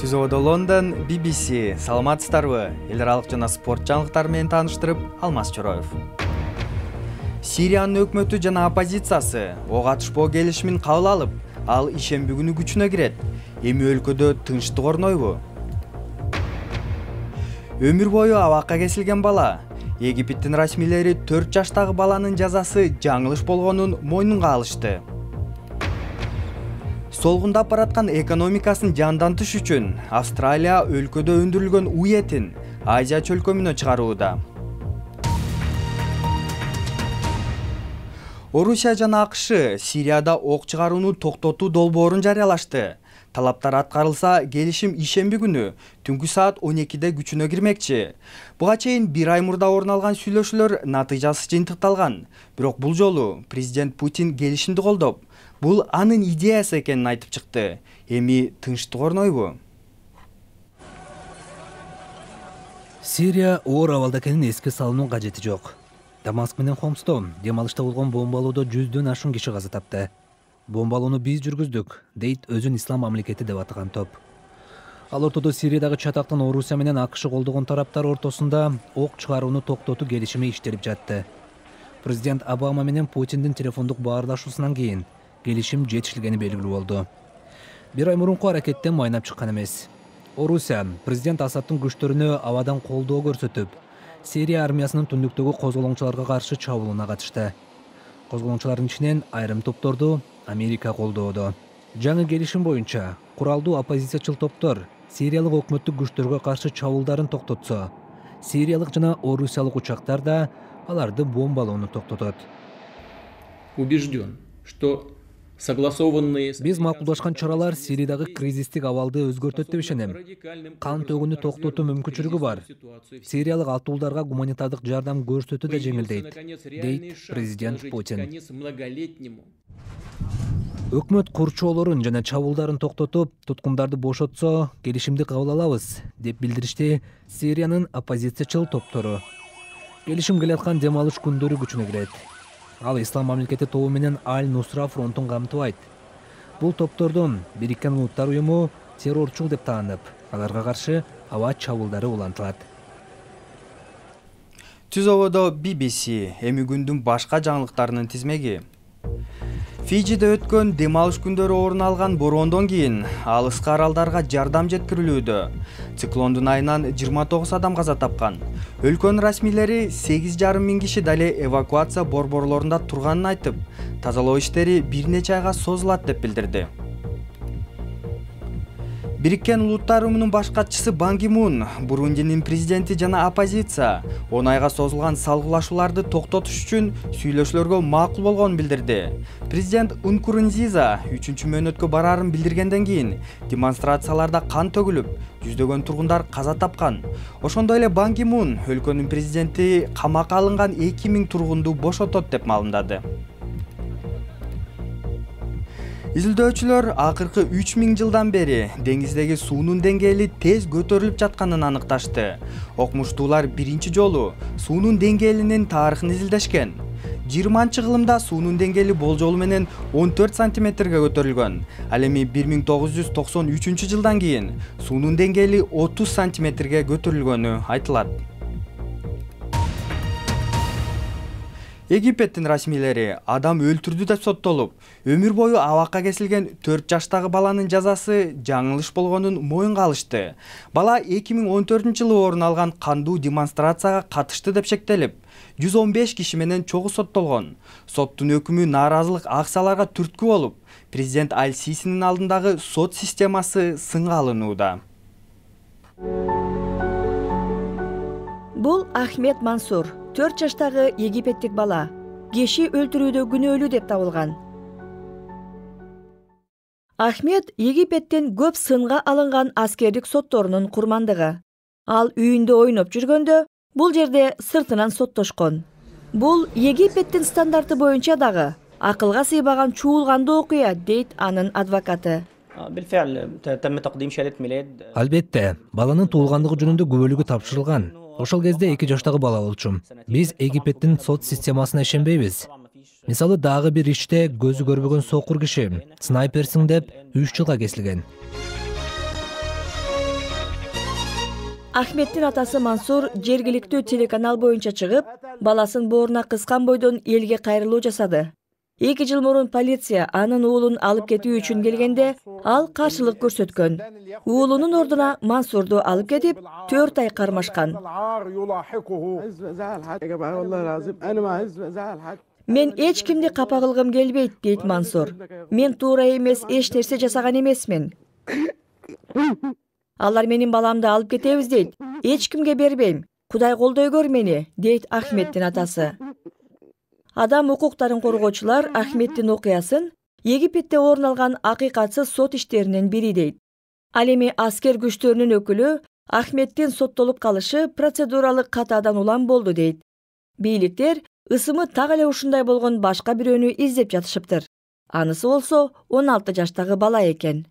Түзөөдө Лондон, BBC, саламатсыздарбы? Эл аралык жана спорт жаңылыктары менен тааныштырып, Алмаз Чороев. Сириянын өкмөтү жана оппозициясы ок атышпоо келишимин кабыл алып, ал ишемби күнү күчүнө кирет. Эми өлкөдө тынчтык орнойбу? Өмүр бою абакка кесилген бала. Египеттин расмийлери 4 жаштагы баланын жазасы жаңылыш болгонун мойнунга алышты. Солгундап бараткан экономикасын жандантыш үчүн Австралия өлкөдө өндүрүлгөн уй этин Азия чөлкөмүнө чыгарууда. Орусия жана АКШ Сирияда ок чыгарууну токтотуу долбоорун жарыялашты. Талаптар аткарылса, келишим ишемби күнү түнкү саат 12-де күчүнө кирмекчи. Буга чейин 1 ай мурда орун алган сүйлөшүүлөр натыйжасыз жыйынтыкталган. Бирок бул жолу президент Путин келишимди колдоп, бул анын идеясы экенин айтып чыкты. Эми тынчтык орнойбу? Сирия оор абалда экенин эске салуунун кажети жок. Дамаск менен Хомсто дем алышта болгон бомбалоодо 100дөн ашуун киши каза тапты. Бомбалоону биз жүргүздүк, дейт өзүн ислам мамлекети деп атаган топ. Ал ортодо Сириядагы чатактын Орусия менен АКШ колдогон тараптар ортосунда ок чыгарууну токтотуу келишими иштелип жатты. Президент Обама менен Путиндин телефондук баарлашуусунан кийин келишим жетишилгени белгилүү болду. 1 ай мурунку аракеттен майнап чыккан эмес. Орусия президент Асадтын күчтөрүнө абадан колдоо көрсөтүп, Сирия армиясынын түндүктөгү козголоңчуларга каршы чабуулуна катышты. Козголоңчулардын ичинен айрым топторду Америка колдоодо. Жаңы келишим боюнча куралдуу оппозициячыл топтор сириялык өкмөттүк күчтөргө каршы чабуулдарын токтотсо, сириялык жана орусиялык учактар да аларды бомбалоону токтотот. Убежден, что согласованные... Биз макулдашкан чаралар Сириядагы кризистик абалды өзгөртөт деп ишенем. Кан төгүүнү токтотуу мүмкүнчүлүгү бар. Сириялык атуулдарга гуманитардык жардам көрсөтүү да жеңилдейт, дейт президент Путин. Өкмөт курчоолорун жана чабуулдарын токтотуп, туткундарды бошотсо, келишимди кабыл алабыз, деп билдиришти Сириянын оппозициячыл топтору. Келишим келаткан дем алыш күндөрү күчүнө кирет. Ал ислам мамлекети тобу менен Аль-Нусра фронтун камтыбайт. Бул топтордун Бириккен Улуттар уюму террорчул деп таанып, аларга каршы аба чабуулдары улантылат. Түзөөдө BBC эми күндүн башка жаңылыктарынын тизмеги. Фиджиде өткөн дем алыш күндөрү орун алган бороондон кийин алыскы аралдарга жардам жеткирилүүдө. Циклондун айынан 29 адам каза тапкан. Өлкөнүн расмийлери 8,5 миң киши дале эвакуация борборлорунда турганын айтып, тазалоо иштери бир нече айга созулат деп билдирди. Бириккен Улуттар уюмунун баш катчысы Бан Ки Мун, Бурундинин президенти жана оппозиция 10 айга созулган салгылашууларды токтотуш үчүн сүйлөшүүлөргө макул болгонун билдирди. Президент Нкурунзиза 3-чү мөөнөткө бараарын билдиргенден кийин демонстрацияларда кан төгүлүп, жүздөгөн тургундар каза тапкан. Ошондой эле Бан Ки Мун өлкөнүн президенти камакка алынган 2000 тургунду бошотот деп маалымдады. Изилдөөчүлөр акыркы 3000 жылдан бери деңиздеги суунун деңгээли тез көтөрүлүп жатканын аныкташты. Окумуштуулар биринчи жолу суунун деңгээлинин тарыхын изилдешкен. 20-кылымда суунун деңгээли болжолу менен 14 сантиметрге көтөрүлгөн. Ал эми 1993 жылдан кийин суунун деңгээли 30 сантиметрге көтөрүлгөнү айтылат. Египеттин расмийлери адам өлтүрдү деп соттолуп, өмүр бою абакка кесилген 4 жаштагы баланын жазасы жаңылыш болгонун моюнга алышты. Бала 2014-жылы орун алган кандуу демонстрацияга катышты деп шектелип, 115 киши менен чогуу соттолгон. Соттун өкүмү нааразылык акцияларга түрткү болуп, президент Аль-Сисинин алдындагы сот системасы сынга алынууда. Бул Ахмед Мансур, 4 жаштагы египеттик бала. Киши өлтүрүүдө күнөөлүү деп табылган. Ахмед Египеттин көп сынга алынган аскердик сотторунун курмандыгы. Ал үйүндө ойноп жүргөндө бул жерде сыртынан соттошкон. Бул Египеттин стандарты боюнча дагы акылга сыйбаган чуулгандуу окуя, дейт анын адвокаты. Албетте, баланын туулгандыгы жөнүндө күбөлүгү тапшырылган. Ошол кезде 2 жаштагы бала болчумун. Биз Египеттин сот системасына ишенбейбиз. Мисалы дагы бир иште көзү көрбөгөн сокур киши снайперсиң деп 3 жылга кесилген. Ахметтин атасы Мансур жергиликтүү телеканал боюнча чыгып, баласын бооруна кыскан бойдон элге кайрылуу жасады. 2 жыл мурун полиция анын уулун алып кетүү үчүн келгенде, ал каршылык көрсөткөн. Уулунун ордуна Мансурду алып кетип, 4 ай кармашкан. Мен эч кимди капа кылгым келбейт, дейт Мансур. Мен туура эмес эч нерсе жасаган эмесмин. Алар менин баламды алып кетебиз дейт. Эч кимге бербейм. Кудай колдой көр мени, дейт Ахметтин атасы. Адам укуктарын коргоочулар Ахметтин окуясын Египетте орун алган акыйкатсыз сот иштеринин бири дейт. Ал эми аскер күчтөрүнүн өкүлү Ахметтин соттолуп калышы процедуралык катаадан улам болду дейт. Бийликтер ысымы так эле ушундай болгон башка бирөөнү издеп жатышыптыр. Анысы болсо 16 жаштагы бала экен.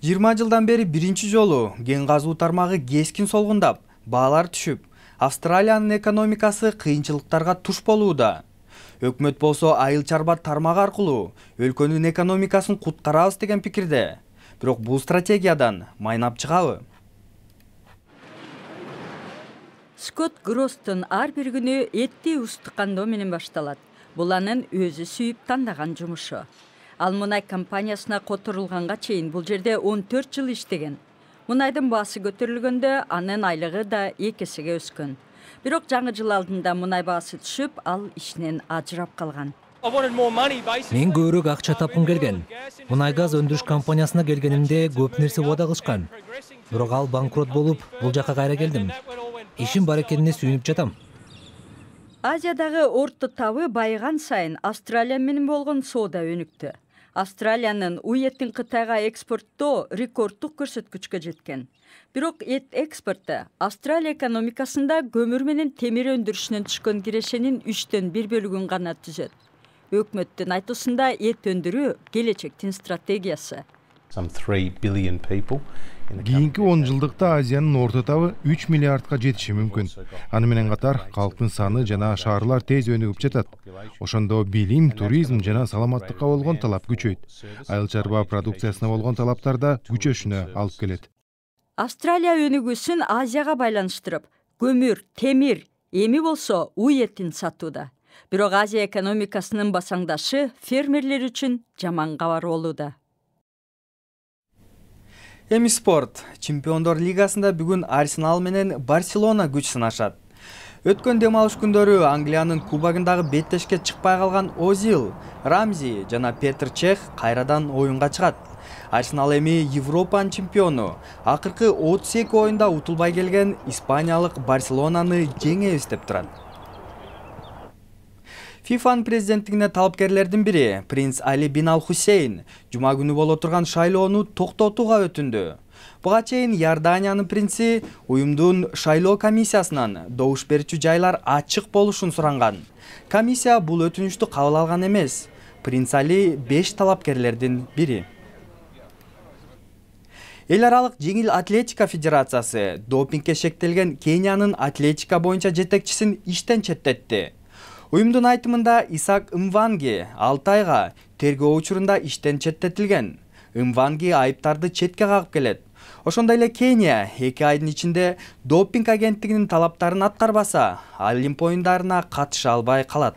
20 жылдан бери биринчи жолу кен казуу тармагы кескин солгундап, баалар түшүп, Австралиянын экономикасы кыйынчылыктарга туш болууда. Өкмөт болсо айыл чарба тармагы аркылуу өлкөнүн экономикасын куткарабыз деген пикирде. Бирок бул стратегиядан майнап чыгабы? Скотт Гростун ар бир күнү этти устук кандоо менен башталат. Бул анын өзү сүйүп тандаган жумушу. Ал мунай компаниясына которулганга чейин бул жерде 14 жыл иштеген. Мунайдын баасы көтөрүлгөндө анын айлыгы да 2 эсеге өскөн. Бирок жаңы жыл алдында мунай баасы түшүп, ал ишинен ажырап калган. Мен көбүрөөк акча тапкым келген. Мунай газ өндүрүш компаниясына келгенимде көп нерсе убада кылышкан. Бирок ал банкрот болуп, бул жака кайра келдим. Ишим бар экенине сүйүнүп жатам. Азиядагы орто табы байыган сайын Австралия менен болгон соода өнүктү. Австралиянын уй этин Кытайга экспорттоо рекорддук көрсөткүчкө жеткен. Бирок эт экспорту Австралия экономикасында көмүр менен темир өндүрүшүнөн түшкөн кирешенин 3/1 бөлүгүн гана түзөт. Өкмөттүн айтуусунда эт өндүрүү келечектин стратегиясы. Кийинки 10 жылдыкта Азиянын орто табы 3 миллиардка жетиши мүмкүн. Аны менен катар калктын саны жана шаарлар тез өнүгүп жатат. Ошондо билим, туризм жана саламаттыкка болгон талап күчөйт. Айыл чарба продукциясына болгон талаптар да күчөшүнө алып келет. Австралия өнүгүүсүн Азияга байланыштырып, көмүр, темир, эми болсо уй этин сатууда. Бирок Азия экономикасынын басаңдашы фермерлер үчүн жаман кабар болууда. Эми спорт. Чемпиондор лигасында бүгүн Арсенал менен Барселона күч сынашат. Өткөн дем алыш күндөрү Англиянын кубогундагы беттешке чыкпай калган Озил, Рамзи жана Петр Чех кайрадан оюнга чыгат. Арсенал эми Европанын чемпиону. Акыркы 32 оюнда утулбай келген испаниялык Барселонаны жеңебиз деп турат. ФИФАнын президенттигине талапкерлердин бири принц Али бин Ал Хусейн жума күнү боло турган шайлоону токтотууга өтүндү. Буга чейин Иорданиянын принци уюмдун шайлоо комиссиясынан добуш берүүчү жайлар ачык болушун суранган. Комиссия бул өтүнүштү кабыл алган эмес. Принц Али 5 талапкерлердин бири. Эл аралык жеңил атлетика федерациясы допингге шектелген Кениянын атлетика боюнча жетекчисин иштен четтетти. Уюмдун айтымында Исаак Мванги 6 айга тергөө учурунда иштен четтетилген. Мванги айыптарды четке кагып келет. Ошондой эле Кения 2 айдын ичинде допинг агенттигинин талаптарын аткарбаса, Олимп оюндарына катыша албай калат.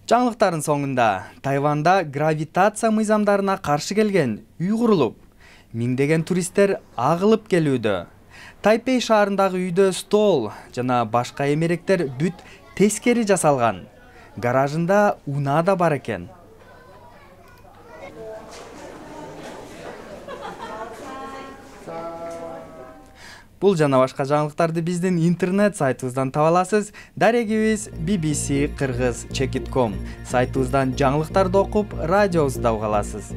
Жаңылыктардын соңунда Тайванда гравитация мыйзамдарына каршы келген үй курулуп, миңдеген туристтер агылып келүүдө. Тайпей шаарындагы үйдө стол жана башка эмеректер бүт тескери жасалган. Гаражында унаа да бар экен. Бул жана башка жаңылыктарды биздин интернет сайтыбыздан таба аласыз. Дарегибиз bbc-kyrgyz.com сайтыбыздан жаңылыктарды окуп, радиобузду да уга аласыз.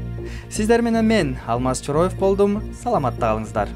Сиздер менен мен Алмаз Чороев болдум. Саламатта калыңыздар.